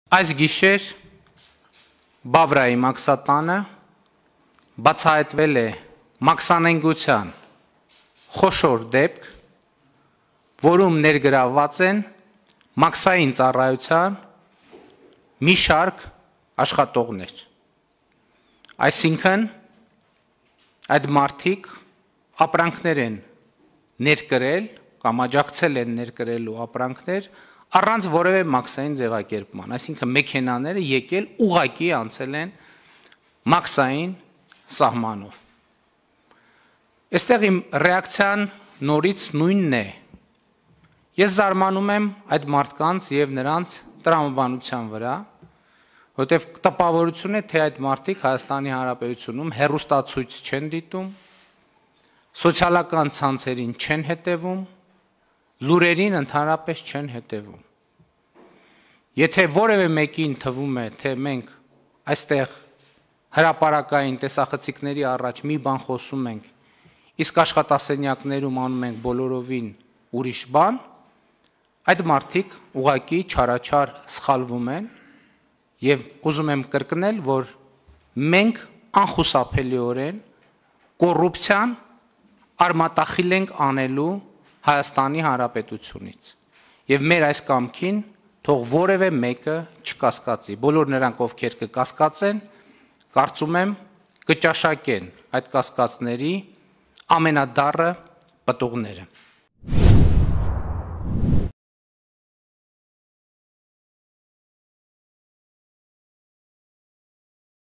Այս գիշեր Բավրայի մաքսատանը բացահայտվել է մաքսանենգության խոշոր դեպք, որում ներգրավված են մաքսային ծառայության մի շարք աշխատողներ։ Այսինքն այդ մարդիկ ապրանքներ են ներկրել կամ աջակցել են ներկրելու ապրանքներ առանց որևէ մաքսային ձևակերպման, այսինքն մեքենաները եկել ուղղակի անցել են մաքսային սահմանով։ Այստեղ իմ ռեակցիան նորից նույնն է։ Ես զարմանում եմ այդ մարդկանց եւ նրանց տրամաբանության վրա, որտեղ տպավորություն է, թե այդ մարդիկ Հայաստանի Հանրապետությունում հեռուստացույց չեն դիտում, սոցիալական ցանցերին չեն հետևում, լուրերին ընդհանրապես չեն հետևում։ Եթե որևէ մեկին թվում է, թե մենք այստեղ հրապարակային տեսախցիկների առաջ մի բան խոսում ենք, իսկ աշխատասենյակներում անում ենք բոլորովին ուրիշ բան, այդ մարդիկ ուղղակի չարաչար սխալվում են եւ ուզում եմ կրկնել, որ մենք անխուսափելիորեն կոռուպցիան արմատախիլ ենք անելու Հայաստանի Հանրապետությունից եւ մեր այս կամքին թող որևէ մեկը չկասկածի, բոլոր նրանք, ովքեր կկասկածեն, կարծում եմ կճաշակեն այդ կասկածների ամենադառը պտուղները։